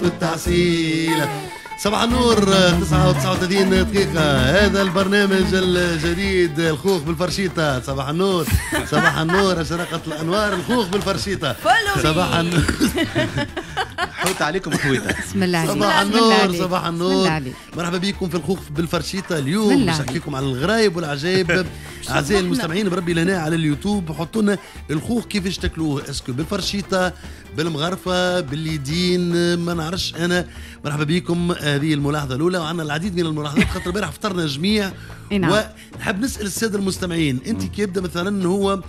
والتعسيل. صباح النور، 9:39 دقيقة. هذا البرنامج الجديد الخوخ بالفرشيطة. صباح النور، صباح النور، أشرقت الأنوار. الخوخ بالفرشيطة، صباح النور. حوت عليكم خويتا. بسم الله عليك. صباح النور، صباح النور. عليك. مرحبا بكم في الخوخ بالفرشيطة. اليوم باش نحكي لكم على الغرايب والعجائب. أعزائي المستمعين، بربي لنا على اليوتيوب حطوا لنا الخوخ كيفاش تاكلوه، est-ce que بالفرشيطة، بالمغرفة، باليدين، ما نعرفش أنا. مرحبا بكم. هذه الملاحظة الأولى، وعندنا العديد من الملاحظات خاطر البارح فطرنا جميع. نعم. ونحب نسأل السادة المستمعين، أنت كي يبدا مثلا هو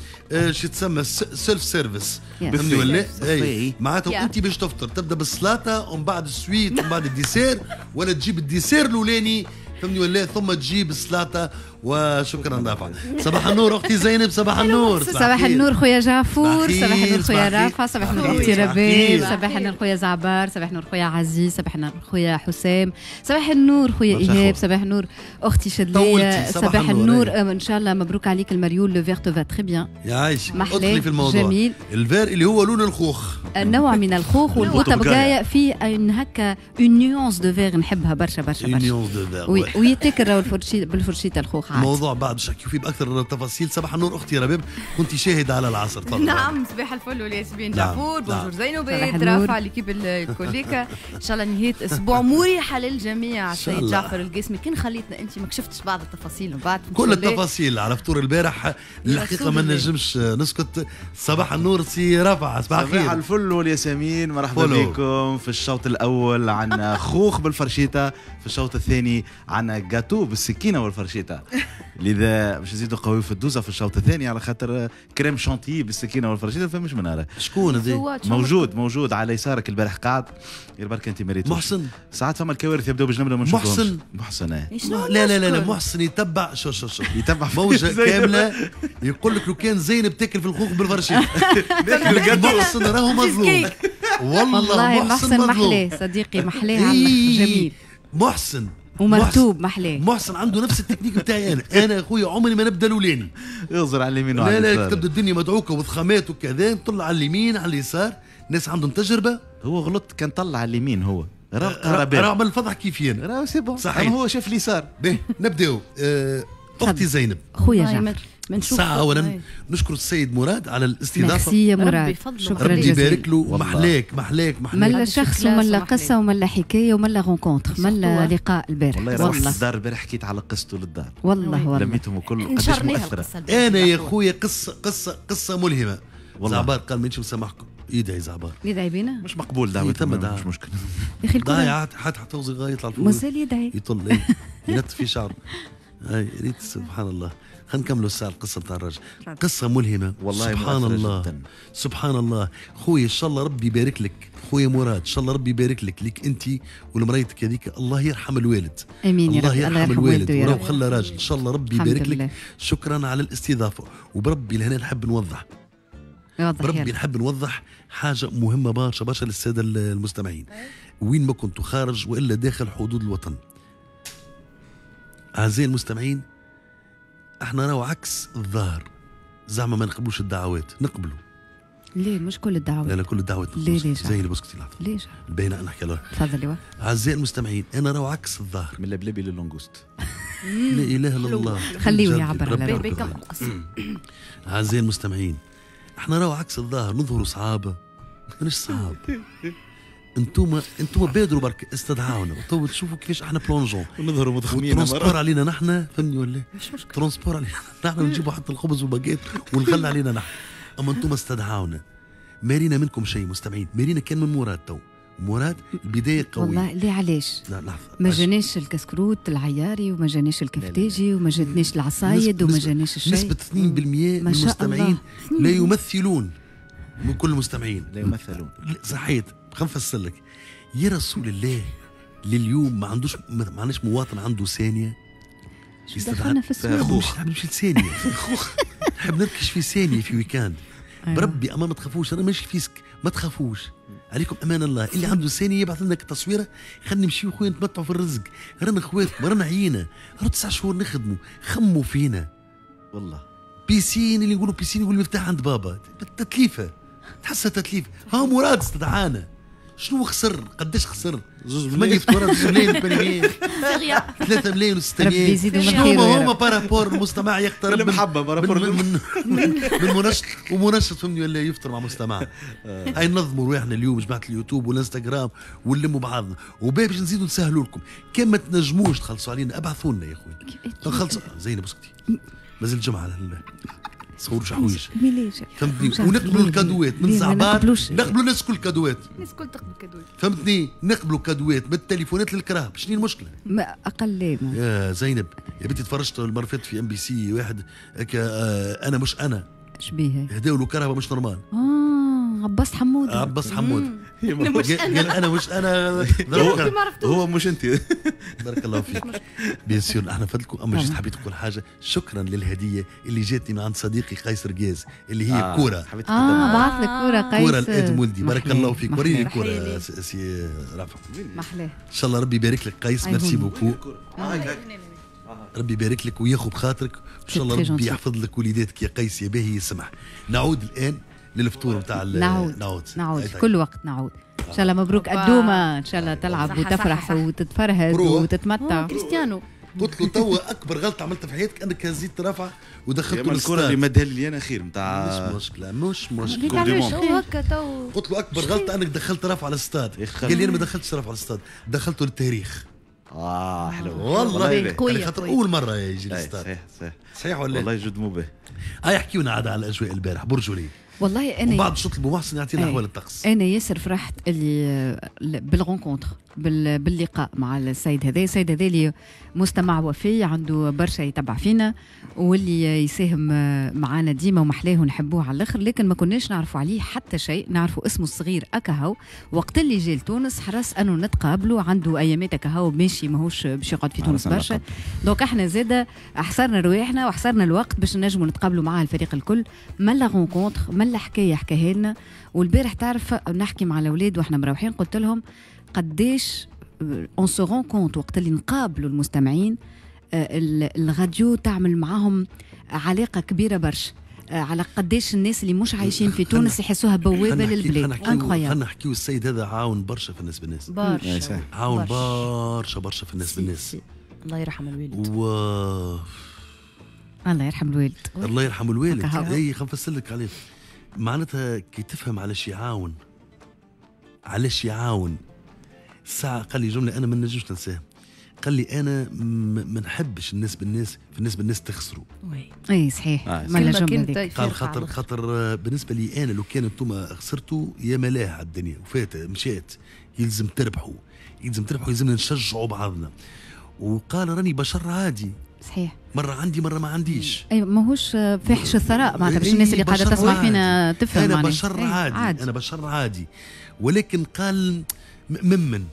شو تسمى self service، فهمني ولا؟ اي معناتها أنت باش تفطر تبدا بالسلطة ومن بعد ال suite ومن بعد ال dessert، ولا تجيب ال dessert الأولاني، فهمني ولا، ثم تجيب السلطة؟ وشكرا رافع. صباح النور اختي زينب، صباح النور. صباح النور خويا جعفور، صباح النور خويا رافع، صباح النور اختي رباب، صباح النور خويا زعبار، صباح النور خويا عزيز، صباح النور خويا حسام، صباح النور خويا ايهاب، صباح النور اختي شدليه، صباح النور. ان شاء الله مبروك عليك المريول، le vert te va très bien. يعيشك. ادخلي في الموضوع. جميل. ال vert اللي هو لون الخوخ، النوع من الخوخ والبوطبقايه فيه هكا une nuance de vert نحبها برشا برشا برشا. nuance de vert. ويتاكل راهو بالفرشيطه الخوخ. موضوع بعد باش نحكيو فيه باكثر التفاصيل. صباح النور اختي رباب، كنت شاهده على العصر. تفضل. نعم، صباح الفل والياسمين. جعفور، bonjour زينب، رافع، l'équipe الكوليكا. ان شاء الله نهاية اسبوع مريحه للجميع. السيد جعفر القاسمي، كان خليتنا انت ما كشفتش بعض التفاصيل من بعد. كل التفاصيل على فطور البارح الحقيقة ما نجمش نسكت. صباح النور سي رافع، صباح الخير. صباح الفل والياسمين، مرحبا بكم. في الشوط الاول عندنا خوخ بالفرشيطه، في الشوط الثاني عندنا جاتو بالسكينة والفرشيطه. لذا باش نزيدوا قوي في الدوزه في الشوط الثاني، على خاطر crème chantilly بالسكينة والفرشيطه فمش من هذا. شكون هذا؟ موجود، موجود على يسارك البارح قاعد، غير برك انت ما ريتوش. محسن. ساعات فما الكوارث يبداو بجنبنا ما نشوفوهمش. محسن. محسن. لا لا لا لا، محسن يتبع شو شو شو يتبع موجه كاملة. يقول لك لو كان زينب تاكل في الخوخ بالفرشيطه. محسن راهو مظلوم والله. محسن محلاه صديقي، محلاه جميل. محسن ومرتوب محلاه. محسن عنده نفس التكنيك بتاعي انا. انا اخويا عمري ما نبدا الاولاني. يغزر على اليمين وعلى اليسار. لا لا، تبدا الدنيا مدعوكه وضخامات وكذا، نطلع على اليمين على اليسار، ناس عندهم تجربه. هو غلط كان طلع على اليمين، هو راه عمل الفضح كيفي انا. راه c'est bon، صحيح. هو شاف اليسار. باهي نبداو. اختي زينب. خويا جعفر. ساعة أولا نشكر السيد مراد على الاستضافة. ميرسي يا مراد، شكرا ربي يبارك له. محلاك محلاك محلاك. ملا شخص وملا قصة وملا حكاية وملا rencontre، ملا لقاء البارح. والله روحت للدار البارح حكيت على قصته للدار. والله والله لميتهم الكل، قداش مؤثرة. أنا يا خويا قصة قصة قصة ملهمة. زعبار قال مانيش مسامحكم. يدعي زعبار. يدعي بينا؟ مش مقبول دعوة، مش مشكلة. يا أخي ضايع حتى توزي غاية يطلع الفوق. مازال يدعي. يطل ينط في شعره. هاي ريت سبحان الله. خلينا نكملوا الساعة القصة نتاع الراجل، قصة ملهمة والله. سبحان الله جداً. سبحان الله خويا، ان شاء الله ربي يبارك لك خويا مراد، ان شاء الله ربي يبارك لك، ليك انت ولمريتك هذيك. الله يرحم الوالد. امين يا رب. الله يرحم الوالد وراه خلى راجل. ان شاء الله ربي يبارك لك. شكرا على الاستضافة. وبربي لهنا نحب نوضح، بربي نحب نوضح حاجة مهمة برشا برشا للسادة المستمعين، وين ما كنتوا خارج والا داخل حدود الوطن. أعزائي المستمعين، احنا راهو عكس الظاهر، زعما ما نقبلوش الدعوات، نقبلوا. ليه مش كل الدعوات؟ لا لا كل الدعوات. ليه ليه؟ زي اللي بسكتي لحظة. ليش؟ الباينة نحكي لها. تفضلي. أعزائي المستمعين، أنا راهو عكس الظاهر. من اللبلبي لل langouste. لا إله إلا الله. خليه يعبر على روحه. أعزائي المستمعين، احنا راهو عكس الظاهر، نظهروا صعابة، ماناش صعاب. انتوما بادروا برك، استدعاونا تو تشوفوا كيفاش احنا plongeons ونظهروا مضخمين. transport علينا نحن، فهمني ولا؟ مش مشكلة. transport علينا نحن، نجيبوا حتى الخبز والباجيت والغلة علينا نحن. اما انتوما استدعاونا، ما رينا منكم شيء مستمعين، ما رينا كان من مراد. تو مراد البداية قوية. والله ليه علاش؟ لا لحظة. ما جاناش الكسكروت العياري، وما جاناش الكفتاجي، وما جاتناش العصايد، وما جاناش الشيء. نسبه 2% من المستمعين لا يمثلون من كل المستمعين. لا يمثلون. صحيت. خلينا نفسر لك يا رسول الله. لليوم ما عندوش، ما عندناش مواطن عنده ثانية. دخلنا في السوق. نحب نمشي لثانيه. نحب نركش في ثانية في week-end. بربي اما ما تخافوش، انا ماشي fisc، ما تخافوش عليكم امان الله. اللي عنده ثانية يبعث لنا التصويره، خلينا نمشيو خويا نتمتعوا في الرزق. رانا خواتكم، رانا عيينا، رانا 9 شهور نخدموا، خموا فينا والله. piscine اللي نقولوا piscine يقول المفتاح عند بابا، تتليفه، تحسها تتليفه. ها مراد استدعانا. شنو خسر؟ قداش خسر؟ 8 فطورات 2 ملايين 800 3 ملايين و600. ربي يزيدوا من خيره. هما par rapport المستمع يقترب المحبة par rapport من منشط ومنشط فهمني ولا يفطر مع مستمع. هاي ننظموا رواحنا اليوم جماعة اليوتيوب والانستغرام ونلموا بعضنا وباش نزيدوا نسهلوا لكم. كان ما تنجموش تخلصوا علينا ابعثوا لنا يا خويا. نخلص زينب اسكتي مازال الجمعة صوروا حوايج فهمتني. ونقبلوا الكادوات من زعبار، نقبلوا الناس كل كادوات، الناس كل تقبل كادوات فهمتني. نقبلوا كادوات من التليفونات للكراهب. شنو المشكلة؟ ما اقل يا زينب يا بنتي تفرجت المرة فاتت في MBC واحد انا مش انا شبيه هداو له كرهبه مش normal. عباس حمود. عباس حمود قال انا مش انا هو مش انت. بارك الله فيك. bien sûr احنا فدلكم. اما juste حبيت نقول حاجة، شكرا للهديه اللي جاتني من عند صديقي قيس رجاز اللي هي كورة. بعث لك كورة قيس، كورة لادم ولدي. بارك الله فيك. وريني الكورة سي رافع. محلاه. ان شاء الله ربي يبارك لك قيس. merci beaucoup. ربي يبارك لك وياخذ بخاطرك ان شاء الله. ربي يحفظ لك وليداتك يا قيس يا باهي. يسمح نعود الان للفطور نتاع نعود نعود كل وقت نعود. ان شاء الله مبروك الدومه، ان شاء الله تلعب وتفرح وتتفرهد وتتمتع. كريستيانو قلت له توا اكبر غلطه عملتها في حياتك انك هزيت رافع ودخلته الكره اللي مدها لي انا خير نتاع مش مشكلة مش مشكلة. هكا تو قلت له اكبر غلطه انك دخلت رافع على الاستاد. قال لي انا ما دخلتش رافع على الاستاد، دخلته للتاريخ. حلو والله، خاطر اول مرة يجي الاستاد. صحيح صحيح صحيح ولا والله جد مو به. هاي احكيونا عاد على الاجواء البارح برجولي. والله انا وبعد شو طلبوا محسن يعطينا احوال الطقس. انا ياسر فرحت اللي بال rencontre باللقاء مع السيد هذا. السيد هذا اللي مستمع وفي، عنده برشا يتبع فينا واللي يساهم معانا ديما ومحلاه ونحبوه على الاخر، لكن ما كناش نعرفوا عليه حتى شيء، نعرفوا اسمه الصغير اكاهو. وقت اللي جا لتونس حرص انه نتقابلوا، عنده ايامات اكاهو ماشي ماهوش باش يقعد في تونس برشا. donc احنا زاده حصرنا رواحنا وحصرنا الوقت باش نجموا نتقابلوا مع الفريق الكل. ملا rencontre، ملا حكاية حكاها لنا. والبارح تعرف نحكي مع الاولاد واحنا مروحين قلت لهم قداش on se rend compte وقت اللي نقابلوا المستمعين الراديو تعمل معاهم علاقة كبيرة برشا، على قداش الناس اللي مش عايشين في تونس يحسوها بوابه للبلاد. incroyable. خلينا نحكيو السيد هذا عاون برشا في الناس بالناس، برشا عاون برشا برشا في الناس بالناس. الله يرحم الوالد. الله يرحم الوالد. الله يرحم الوالد. اي خلينا نفسر لك عليه. معناتها كي تفهم علاش يعاون، علاش يعاون. الساعة قال لي جملة أنا ما نجمش ننساها. قال لي أنا ما نحبش الناس بالناس، في الناس بالناس تخسروا. اي صحيح. ما الجملة قال خاطر بالنسبة لي أنا لو كان أنتم خسرتوا يا ملاه على الدنيا وفات مشات، يلزم تربحوا، يلزم تربحوا، يلزمنا نشجعوا بعضنا. وقال راني بشر عادي. صحيح. مرة عندي مرة ما عنديش. اي ماهوش فاحش الثراء معناتها باش الناس اللي قاعدة تسمع فينا تفهم. أنا بشر عادي. عادي. أنا بشر عادي، ولكن قال ممن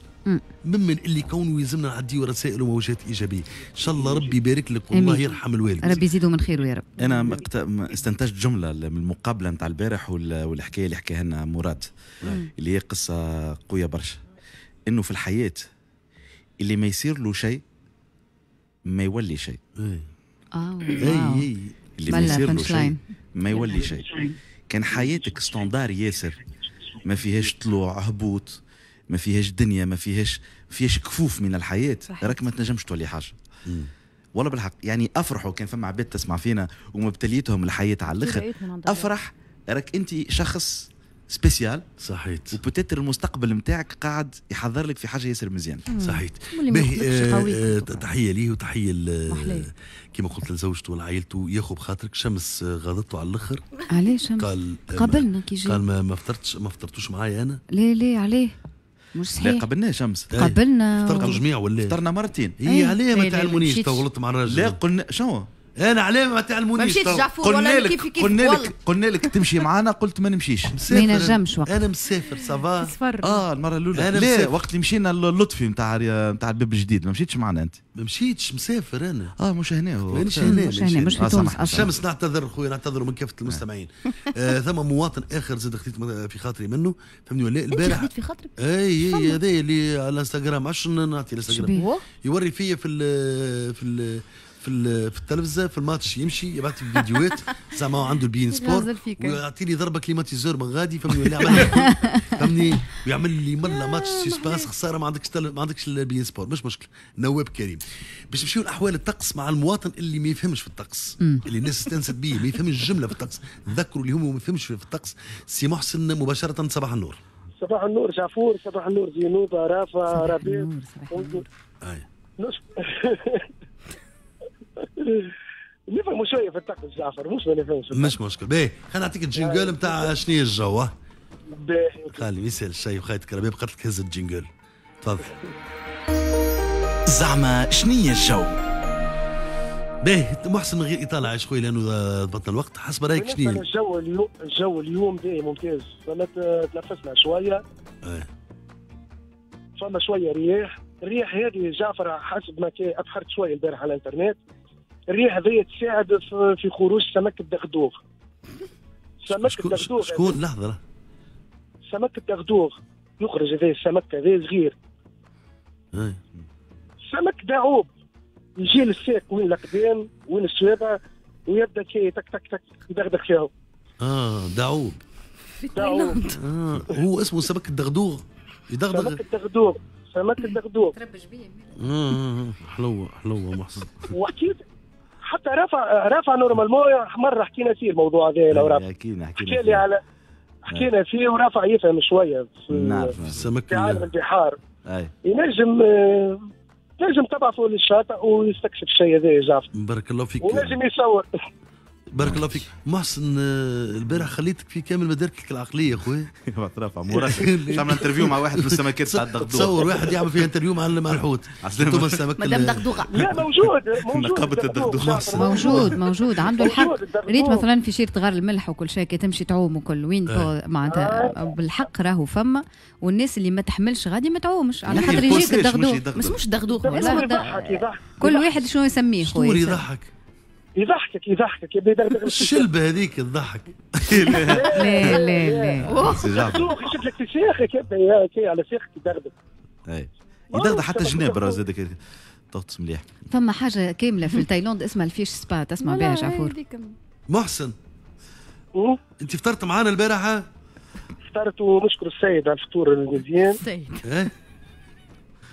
اللي كونه يلزمنا نعديو رسائل وموجات ايجابية. ان شاء الله ربي يبارك لك والله يرحم الوالد. ربي يزيده من خيره يا رب. انا استنتجت جملة من المقابلة نتاع البارح والحكاية اللي حكاها لنا مراد، اللي هي قصة قوية برشا، انه في الحياة اللي ما يصير له شيء ما يولي شيء. اللي ما يصير له شيء ما يولي شيء. كان حياتك standard ياسر، ما فيهاش طلوع هبوط، ما فيهاش دنيا، ما فيهاش كفوف من الحياة، راك ما تنجمش تولي حاجة. والله بالحق يعني افرحوا كان فما عباد تسمع فينا ومبتليتهم الحياة على الاخر، افرح راك انت شخص spécial. صحيت. و peut-être المستقبل نتاعك قاعد يحضر لك في حاجة ياسر مزيان. صحيت. باهي تحية ليه وتحية كما قلت لزوجته ولعائلته. ياخذ بخاطرك. شمس غاضته على الاخر. علاش شمس؟ قال قابلنا كي جا. قال ما فطرتش، ما فطرتوش معايا انا. ليه ليه عليه؟ مش صحيح. لا قابلناه شمس. قابلنا. فطرتوا جميع ولا؟ فطرنا مرتين. هي عليه ما تعلمونيش تو غلطت مع الراجل. لا قلنا شنو؟ انا علاه ما تعلمونيش. ما مشيتش جعفور ولا كيف كيف. قلنا لك تمشي معانا قلت ما نمشيش. ما ينجمش وقت. انا مسافر ça va. المرة الاولى لا وقت اللي مشينا للطفي نتاع الباب الجديد ما مشيتش معنا انت. ما مشيتش مسافر انا. مش هنا. مش هنا مش هنا مش في تونس اصلا. شمس نعتذر خويا، نعتذر من كافة المستمعين. ثم مواطن اخر زاد خديت في خاطري منه فهمني ولا البارح. خديت في خاطرك؟ اي هذا اللي على الانستغرام، عشان نعطي الانستغرام يوري فيا في ال في ال في التلفزة في الماتش، يمشي يبعث لي فيديوهات زعما عنده ال beIN Sport ويعطيني ضربه climatiseur من غادي فهمني ولا عمل. فهمني؟ ويعمل لي ملا match suspense. خسارة ما عندكش ال beIN Sport، مش مشكلة. نواب كريم باش نمشيو لاحوال الطقس مع المواطن اللي ما يفهمش في الطقس، اللي الناس استانست بيه ما يفهمش الجملة في الطقس. نذكروا اللي هو ما يفهمش في الطقس. سي محسن مباشرة، صباح النور. صباح النور جعفور، صباح النور زينوبة، رافع، ربيع. نفهموا شوية في الطقس جعفر، مش ما نفهمش. مش مشكل. باهي خلينا نعطيك ال jingle نتاع شنو هي الجو. باهي خلي يسال الشيء وخايتك ربيع قالت لك هز ال jingle. تفضل. زعما شنو هي الجو؟ باهي محسن من غير اطاله عايش خويا لانه ضبطنا الوقت. حسب رايك شنو الجو اليوم؟ الجو اليوم باهي ممتاز، فما تنفسنا شوية. فما شوية رياح، الرياح هذه جعفر حسب ما ابحرت شوية البارح على الانترنت، الريح هذه تساعد في خروج سمك الدغدوغ. سمك الدغدوغ شكون؟ لحظة. سمك الدغدوغ يخرج هذا السمك هذا صغير. سمك دعوب يجي للساق وين الأقدام وين السوابع ويبدا كي تك تك تك يدغدغ فيهم. دعوب. دعوب. هو اسمه سمك الدغدوغ. يدغدغ. سمك الدغدوغ، سمك الدغدوغ. تربج بيه. حلوة حلوة محسن. وحكيت حتى رافع normalement مرة حكينا فيه الموضوع هذا. لو رافع حكينا لي على حكينا فيه ورافع يفهم شوية في السمك في عالم البحار. ينجم نجم تبعثوا للشاطئ ويستكشف الشيء هذا يا جعفر. بارك الله فيك. ونجم يصور. بارك الله فيك محسن. البارح خليتك في كامل مداركك العقلية خويا. رافع مراسل عمل interview مع واحد من السمكات تاع الدغدوغ. تصور واحد يعمل فيه interview مع الحوت. انتم السمك مدام دغدوغه. لا موجود موجود نقابة الدغدوغ. موجود موجود عنده الحق. ريت مثلا في شيرة غار الملح وكل شيء كي تمشي تعوم وكل وين معناتها بالحق راهو فما، والناس اللي ما تحملش غادي ما تعومش على خاطر يجيك الدغدوغ. ما اسموش دغدوغ، كل واحد شنو يسميه خويا. يضحك يضحكك يضحكك يبدا يدغدغ الشلبه هذيك تضحك. لا لا لا يشد لك في ساخك يبدا على ساخك يدغدغ. اي يدغدغ حتى جناب راه زاد تغطس مليح. فما حاجة كاملة في تايلاند اسمها ال fish spa، تسمع بها جعفور؟ محسن انت فطرت معانا البارحة؟ فطرت ونشكر السيد على الفطور المزيان. السيد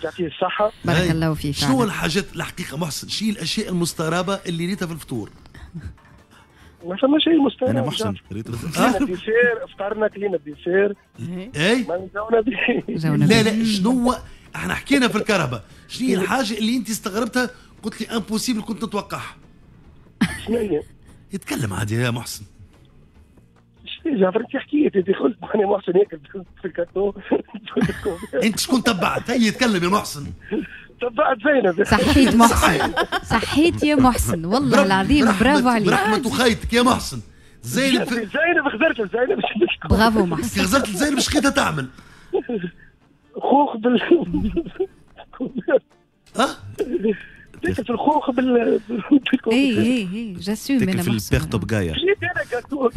يعطيه الصحة. بارك الله فيك. شنو الحاجات الحقيقة محسن، شنو الأشياء المستغربة اللي ريتها في الفطور؟ ما فما شيء مستغرب. أنا محسن ريت كلينا ال dessert، فطرنا كلينا ال dessert. اي لا لا شنو احنا حكينا في الكهرباء، شنو هي الحاجة اللي أنت استغربتها قلت لي impossible كنت نتوقعها؟ شنو هي؟ يتكلم عادي يا محسن. جعفر انت حكيت انت قلت ماني محسن ياكل في الكاتو. انت شكون تبعت؟ هي يتكلم يا محسن. تبعت زينب. صحيت محسن، صحيت يا محسن والله العظيم، برافو عليك. برحمة خيتك يا محسن. زينب زينب خزرت زينب. برافو محسن. خزرت زينب اش لقيتها تعمل؟ خوخ بال اه تاكل في الخوخ بال اي اي اي j'assume انا في البيرتو بقايا. جيت انا gâteau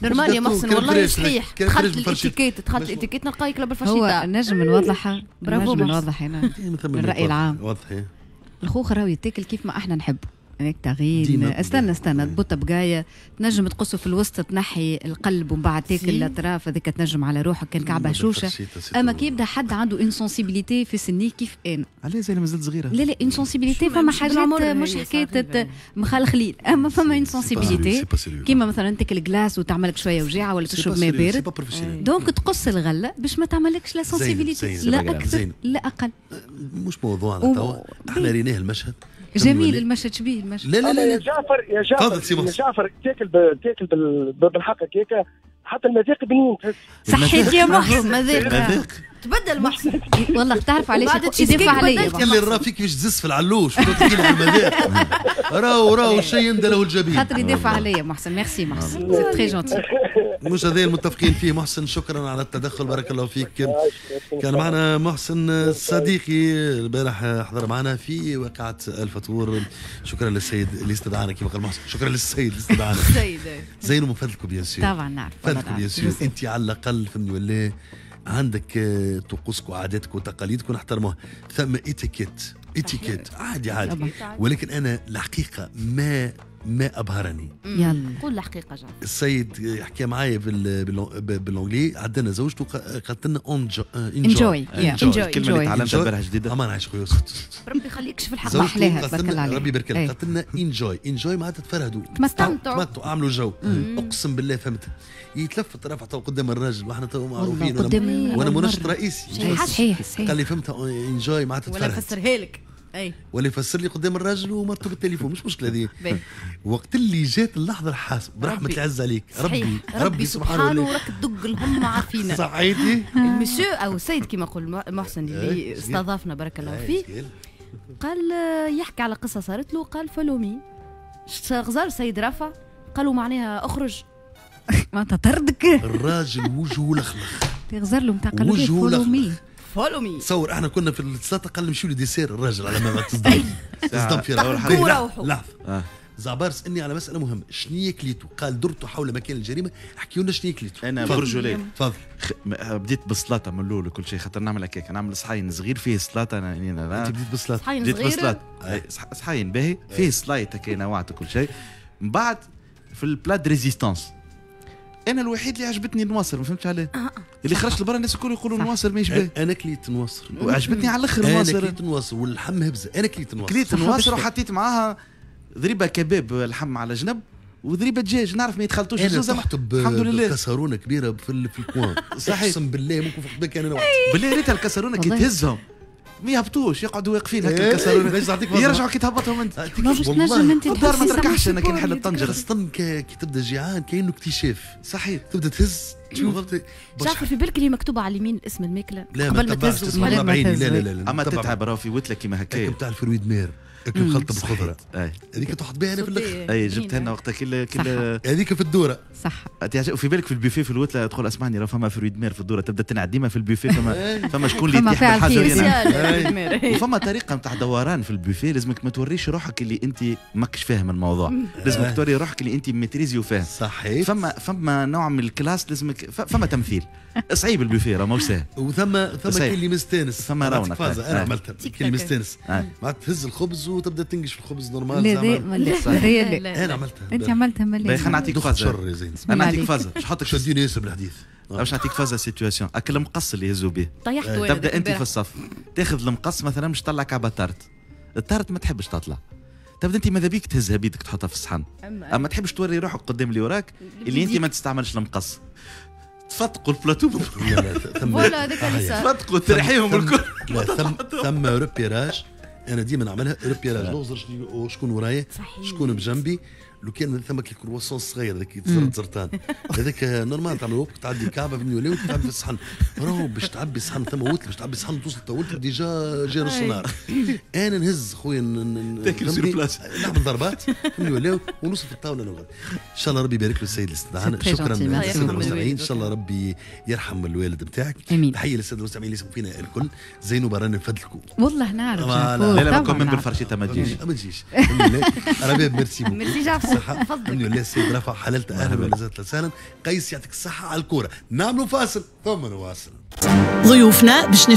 normal يا محسن والله صحيح. دخلت الاتيكيت، دخلت الاتيكيت نلقاك ياكل بالفرشيطه. هو نجم نوضحها، برافو نجم نوضح هنا الراي العام. وضحي. الخوخ راهو يتاكل كيف ما احنا نحب، هيك تغيين. استنى استنى تبوطه بقايه تنجم تقصه في الوسط، تنحي القلب ومن بعد تاكل الاطراف هذيك، تنجم على روحك كان كعبه هشوشه. اما كي يبدا حد عنده une sensibilité في سنية كيف انا، علاش زي مازالت صغيرة؟ لا لا une sensibilité فما حاجات مش حكاية مخلخلين، اما فما une sensibilité كيما مثلا تاكل glace وتعملك شوية وجيعه ولا تشرب ماء بارد، donc تقص الغلة باش ما تعملكش la sensibilité، لا اكثر لا اقل. مش موضوعنا توا، احنا ريناه المشهد جميل. المشهد شبيه المشهد. لا لا لا يا جعفر يا جعفر يا جعفر تاكل تاكل بالحق هكاك حتى المذاق بنين تحس. صحيت يا محسن. مذاق تبدل محسن والله. تعرف علاش يدافع عليا؟ كان اللي راه فيك كيفاش تزس في العلوش وتحكي لي على المذاق. راهو الشيء يندى له الجبين. خاطر يدافع عليا محسن. ميرسي محسن، c'est très gentil. مش هذا المتفقين فيه محسن. شكرا على التدخل، بارك الله فيك. كان معنا محسن صديقي البارح، حضر معنا في واقعة الفطور. شكرا للسيد اللي استدعانا كما قال محسن، شكرا للسيد اللي استدعانا. السيد زين ومن فضلكم bien sûr. طبعا نعرف فضلكم bien sûr. انت على الاقل فهمني ولا عندك طقوسك وعاداتك وتقاليدك ونحترموها. ثم étiquette، étiquette عادي عادي، ولكن انا الحقيقة ما ما ابهرني. يلا قول الحقيقة جعفر. السيد حكى معايا بال anglais، عندنا زوجته قالت لنا enjoy. enjoy الكلمة اللي تعلمتها امبارح جديدة. امان عايش خويا يوسف، ربي يخليك في الحق. محلاها تبارك الله عليك، ربي يبارك لك. قالت لنا enjoy enjoy معناتها تفرهدوا، تمتعوا تمتعوا، اعملوا جو. اقسم بالله فهمت. يتلفت رافع تو قدام الراجل واحنا تو معروفين، وانا منشط رئيسي. صحيح صحيح. قال لي فهمتها enjoy معناتها تفرهد. ولا فسرها لك. اي ولا يفسر لي قدام الراجل ومرته بالتليفون، مش مشكلة هذه. وقت اللي جات اللحظة الحاسمة برحمة العز عليك ربي ربي سبحانه وراك تدق الهم عافينا. صحيتي المسيو او السيد كما يقول محسن اللي استضافنا بارك الله فيه، قال يحكي على قصة صارت له، قال follow me غزار سيد رافع، قالوا معناها اخرج معناتها طردك. الراجل وجهه لخلخ، تغزر له نتاع قالوا follow me follow me. تصور احنا كنا في السلطة قال نمشيو ل dessert الراجل على ما تصدم تصدم في روحه. لحظة زعبار سالني على مسالة مهمة، شنو كليتو؟ قال درتو حول مكان الجريمة، احكيوا لنا شنو كليتو. انا برجولي تفضل. بديت بالسلطة من الاول وكل شيء، خاطر نعمل هكاك، نعمل صحين صغير فيه سلطة. انا انت بديت بالسلطة؟ صحين بديت صغير بالسلطة، صحين باهي فيه سلايط هكا نوعت وكل شيء. من بعد في ال plat de résistance انا الوحيد اللي عجبتني النواصر، ما فهمتش علاه. اللي خرجت لبرا الناس الكل يقولوا النواصر ماهيش باهي. انا كليت نواصر وعجبتني على الاخر النواصر. انا كليت نواصر واللحم هبزه. انا كليت نواصر، كليت نواصر وحطيت معاها ذريبه كباب لحم على جنب وذريبه دجاج، نعرف ما يتخلطوش الزوز. الحمد لله كسرونه كبيرة في ال coin. صحيح اقسم بالله ممكن فوق بالك انا بالله ريتها الكسرونه كي تهزهم ما يهبطوش، يقعدوا واقفين هكا الكسرونه، يرجعوا كي تهبطهم انت. والله انت الدار ما تركحش. انا كي نحل الطنجره خاصة كي تبدا جيعان كاينه اكتشاف. صحيح تبدا تهز تشوف. جعفر في بالك اللي مكتوبة على اليمين اسم الماكلة قبل ما تهز؟ لا لا لا لا. اما تتعب راهو في وتله كيما هكا نتاع ال fruits de mer مخلطه بالخضره هذيك تحط بها انا في الاخر. اي جبتها لنا وقتها كل هذيك في الدورة. صح. وفي بالك في البوفيه في الوتله تقول اسمعني راه فما fruits de mer في الدورة، تبدا تنعد ديما في البوفيه فما شكون اللي يطيح بالحاجة. وفما طريقه نتاع دوران في البوفيه، لازمك ما توريش روحك اللي انت ماكش فاهم الموضوع، لازمك توري روحك اللي انت maîtrisé وفاهم. صحيح. فما نوع من ال classe لازمك، فما تمثيل صعيب البوفيه راه ماهوش ساهل. وثم كي اللي مستانس، ثم رونق. انا عملتها كي اللي مستانس معناتها تهز الخبز وتبدا تنقش في الخبز normal. لا لا لا انا عملتها. انت عملتها ملي. خلينا نعطيك فازة. انا نعطيك فازة باش نحطك شديني ياسر بالحديث. باش نعطيك فازة situation، اكل المقص اللي يهزوا به. طيحت. تبدا انت في الصف تاخذ المقص مثلا باش تطلع كعبه tarte، ال tarte ما تحبش تطلع، تبدا انت ماذا بيك تهزها بيدك تحطها في الصحن، اما تحبش توري روحك قدام اللي وراك اللي انت ما تستعملش المقص. تفتقوا ال plateau voilà هذاك اللي صار، تفتقوا ترحيهم الكل. ثم repérage، انا ديما نعملها repérage، نغزر شكون ورايا شكون بجنبي. لو كان ثم الكرواسون الصغير هذاك يتزرط زرطان هذاك normal تعمل وقت تعدي كعبه في النيولي وتعبي في الصحن، راهو باش تعبي الصحن ثم وتل باش تعبي الصحن توصل طولت déjà جا نص نهار. انا نهز خويا تاكل sur place، نعمل ضربات في النيولي ونوصل في الطاولة نقعد. ان شاء الله ربي يبارك له السيد اللي استدعانا. شكرا للسادة المستمعين، ان شاء الله ربي يرحم الوالد نتاعك. تحية للسادة المستمعين اللي يسمعوا فينا الكل. زينو رانا نفدلكم والله نعرف. لا لا ما بالفرشيطه ما تجيش ما تجيش. رباب merci beaucoup. ميرسي جعفر. الحمد لله السيد رفع حللت اهلا وسهلا. قيس يعطيك الصحة على الكورة. نعملوا فاصل ثم نواصل. ضيوفنا باش